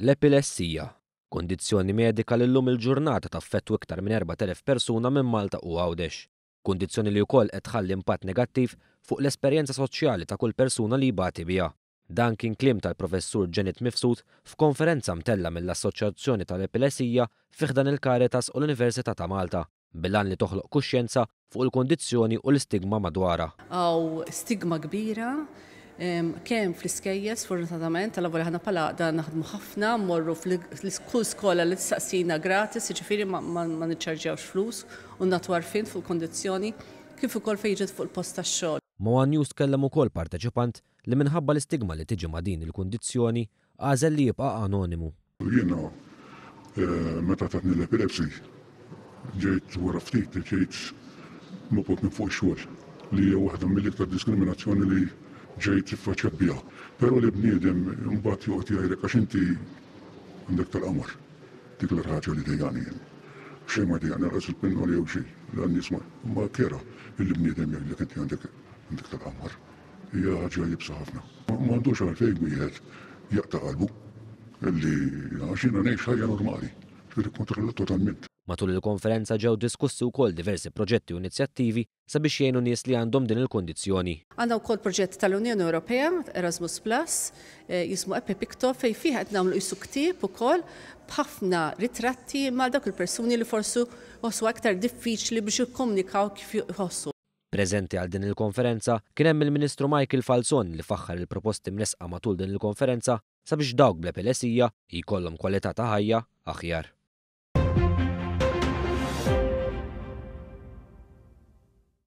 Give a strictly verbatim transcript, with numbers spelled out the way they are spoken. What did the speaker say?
L-epilessija, kundizzjoni medika li llum il-ġurnata taffettwa iktar minn erbat elef persuna minn Malta u Għawdex. Kundizzjoni li wkoll qed tħalli impatt negattiv fuq l-esperjenza soċjali ta' kull persuna li jbati biha. Dan kien kliem tal-Professur Janet Mifsud f'konferenza mtella mill-Assoċjazzjoni tal-Epilessija fi ħdan il-Caritas u l-Università ta' Malta, bil-għan li toħloq kuxjenza fuq il-kundizzjoni u l-istigma madwarha. Hawn stigma kbira kemm fl-iskejjel, sfortunatament, tal-lavori ħana pala da naħdmu ħafna, mmorru f'kull skola li tistaqsina gratis, jiġifieri ma niċċarġjawx flus u nagħtu għarfien fuq kundizzjoni, kif ukoll fejn ġiet fuq il-post tax-xogħol. Ma' One News tkellem ukoll parteċipant li minħabba l-istigma li tiġi ma' din il-kundizzjoni għażel li jibqa' anonimu. Jiena eh, meta tatni l-epilepsy, ġejt wara ftit ġejt mobgħod minn fuq ix-xogħol, li hija waħda mill-iktar diskriminazzjoni li ġejt iffaċċjat biha. Però li bniedem mbagħad joqgħod jgħidlek għax inti għandek tal-qamar. Dik l-ħaġa li dejjaqni jien. Xejn ma dejjaqni, lanqas il-pinnoli jew xejn. La nies ma kera illi bniedem jgħidlek inti għandek għandek tal-qamar. Hija ħaġa iebsa ħafna. Ma għandux għalfejn wieħed jaqta' qalbu illi għax jiena ngħix ħajja normali. Ġifieri kontrollat totalment. Matul il-konferenza ġew diskussi wkoll diversi proġetti u inizjattivi sabiex jgħinu nies li għandhom din il-kundizzjoni. Għandna wkoll proġett tal-Unjoni Ewropea, Erasmus Plus, eh, jismu Epipicto, fejn fih qed nagħmlu qisu ktieb ukoll b'ħafna ritratti ma' dawk il-persuni li forsi jħossu aktar diffiċli biex jikkomunikaw kif jħossu. Preżenti għal din il-konferenza kien hemm il-Ministru Michael Falzon, li faħħar il-proposti mresqa matul din il-konferenza sabiex dawk bl-epilessija jkollhom kwalità ta' ħajja aħjar.